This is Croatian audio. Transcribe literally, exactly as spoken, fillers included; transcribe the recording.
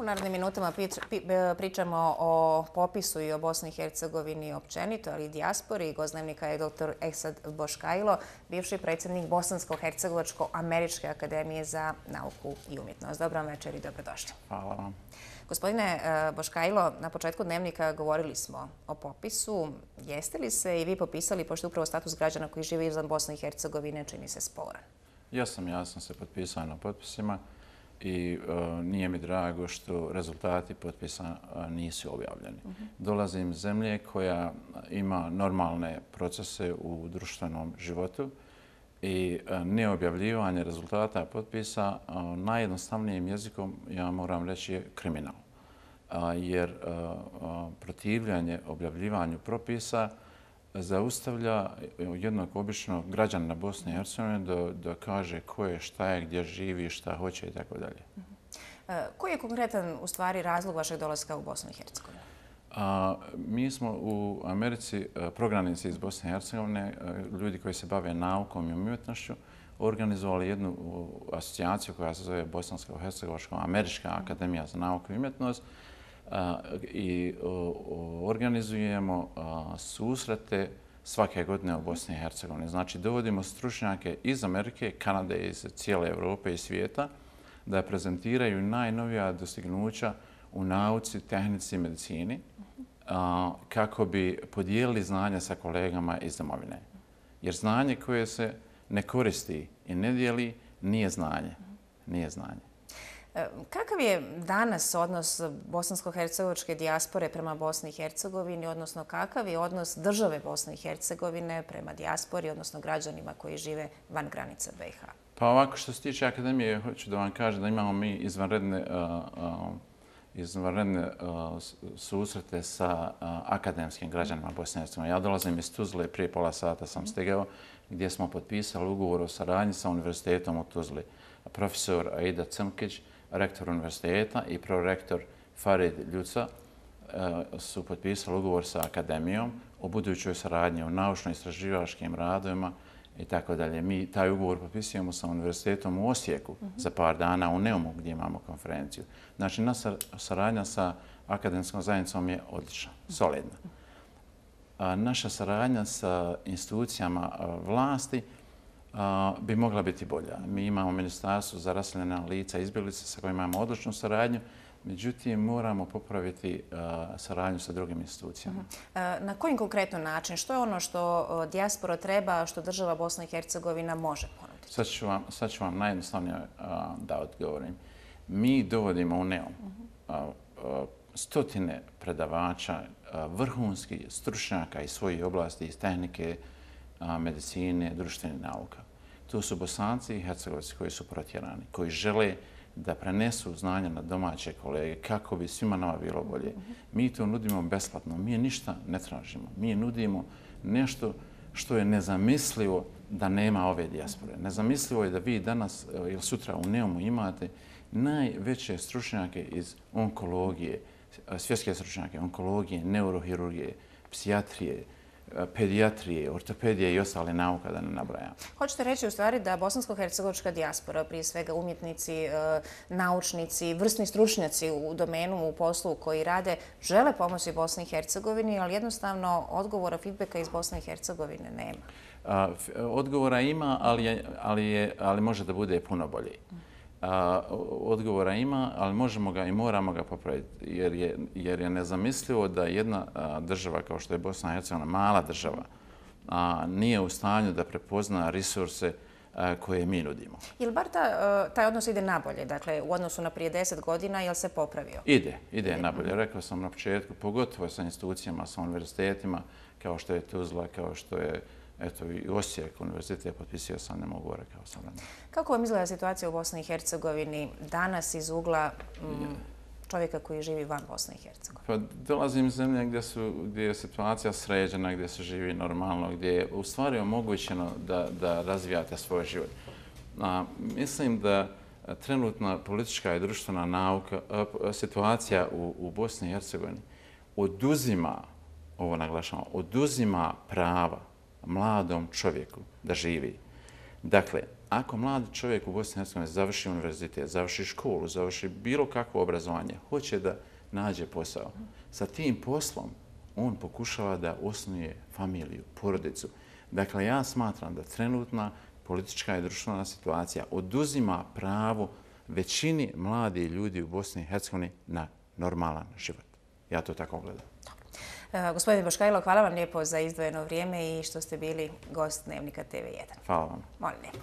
U narednim minutama pričamo o popisu i o Bosni i Hercegovini općenito, ali i dijaspori. Gost dnevnika je doktor Esad Boškajlo, bivši predsjednik Bosansko-Hercegovačko-Američke akademije za nauku i umjetnost. Dobro večer i dobrodošli. Hvala vam. Gospodine Boškajlo, na početku dnevnika govorili smo o popisu. Jeste li se i vi popisali, pošto upravo status građana koji žive izvan Bosne i Hercegovine čini se sporan? Ja sam, ja sam se potpisao na potpisima i uh, nije mi drago što rezultati potpisa uh, nisu objavljeni. Uh-huh. Dolazim iz zemlje koja ima normalne procese u društvenom životu i uh, neobjavljivanje rezultata potpisa uh, najjednostavnijim jezikom, ja moram reći, je kriminal. Uh, jer uh, uh, protivljanje objavljivanju propisa zaustavlja jednog običnog građana Bosne i Hercegovine da, da kaže ko je, šta je, gdje živi, šta hoće i tako dalje. Koji je konkretan u stvari razlog vašeg dolaska u Bosnu i Hercegovinu? A, mi smo u Americi prognanici iz Bosne i Hercegovine, ljudi koji se bave naukom i umjetnošću, organizovali jednu asocijaciju koja se zove Bosansko-Hercegovačko-Američka akademija za nauku i umjetnost, i organizujemo susrete svake godine u Bosni i Hercegovini. Znači, dovodimo stručnjake iz Amerike, Kanade, iz cijele Europe i svijeta da prezentiraju najnovija dostignuća u nauci, tehnici i medicini kako bi podijelili znanje sa kolegama iz domovine. Jer znanje koje se ne koristi i ne dijeli nije znanje. Nije znanje. Kakav je danas odnos bosansko-hercegovačke dijaspore prema Bosni i Hercegovini, odnosno kakav je odnos države Bosne i Hercegovine prema dijaspori, odnosno građanima koji žive van granica B i H? Pa ovako, što se tiče akademije, hoću da vam kažem da imamo mi izvanredne, uh, uh, izvanredne uh, susrete sa uh, akademskim građanima Bosne i Hercegovine. Ja dolazim iz Tuzle, prije pola sata sam stigao, gdje smo potpisali ugovor o saradnji sa univerzitetom u Tuzli. Profesor Aida Cmkić, rektor univerziteta i prorektor Farid Ljuca su potpisali ugovor sa akademijom o budućoj saradnji u naučno-istraživačkim radovima i tako dalje. Mi taj ugovor potpisujemo sa univerzitetom u Osijeku za par dana u Neumu gdje imamo konferenciju. Znači, naša saradnja sa akademskom zajednicom je odlična, solidna. Naša saradnja sa institucijama vlasti bi mogla biti bolja. Mi imamo Ministarstvo za raseljena lica i izbjeglice sa kojima imamo odličnu saradnju, međutim moramo popraviti saradnju sa drugim institucijama. Na koji konkretno način? Što je ono što dijaspora treba, što država Bosna i Hercegovina može ponuditi? Sad ću vam, sad ću vam najjednostavnije da odgovorim. Mi dovodimo u Neum stotine predavača, vrhunskih stručnjaka iz svojih oblasti, iz tehnike, medicine, društvenih nauka. To su Bosanci i Hercegovci koji su protjerani, koji žele da prenesu znanja na domaće kolege kako bi svima nama bilo bolje. Mi to nudimo besplatno, mi ništa ne tražimo. Mi nudimo nešto što je nezamislivo da nema ove dijaspore. Nezamislivo je da vi danas ili sutra u Neumu imate najveće stručnjake iz onkologije, svjetske stručnjake, onkologije, neurohirurgije, psijatrije, pedijatrije, ortopedije i ostale nauka, da ne nabrajam. Hoćete reći u stvari da bosansko-hercegovačka dijaspora, prije svega umjetnici, naučnici, vrsni stručnjaci u domenu, u poslu koji rade, žele pomoći Bosni i Hercegovini, ali jednostavno odgovora, feedbacka iz Bosne i Hercegovine nema? Odgovora ima, ali, je, ali, je, ali može da bude puno bolji. A, odgovora ima, ali možemo ga i moramo ga popraviti, jer je, jer je nezamislivo da jedna a, država kao što je Bosna i Hercegovina, mala država, a, nije u stanju da prepozna resurse a, koje mi nudimo. Jel bar ta, taj odnos ide nabolje? Dakle, u odnosu na prije deset godina, jel se popravio? Ide, ide, ide. nabolje. Rekao sam na početku, pogotovo sa institucijama, sa univerzitetima, kao što je Tuzla, kao što je Eto, i Osijek, univerzitet je potpisio sam, ne mogu gore kao sam. Kako vam izgleda situacija u Bosni i Hercegovini danas iz ugla mm, čovjeka koji živi van Bosne i Hercegovine? Pa dolazim iz zemlje gdje, su, gdje je situacija sređena, gdje se živi normalno, gdje je u stvari omogućeno da, da razvijate svoj život. A, mislim da trenutna politička i društvena nauka, a, situacija u, u Bosni i Hercegovini oduzima, ovo naglašamo, oduzima prava mladom čovjeku da živi. Dakle, ako mladi čovjek u Bosni i Hercegovini završi univerzitet, završi školu, završi bilo kakvo obrazovanje, hoće da nađe posao, sa tim poslom on pokušava da osnuje familiju, porodicu. Dakle, ja smatram da trenutna politička i društvena situacija oduzima pravo većini mladih ljudi u Bosni i Hercegovini na normalan život. Ja to tako gledam. Gospodine Boškajlo, hvala vam lijepo za izdvojeno vrijeme i što ste bili gost Dnevnika T V jedan. Hvala vam. Molim lijepo.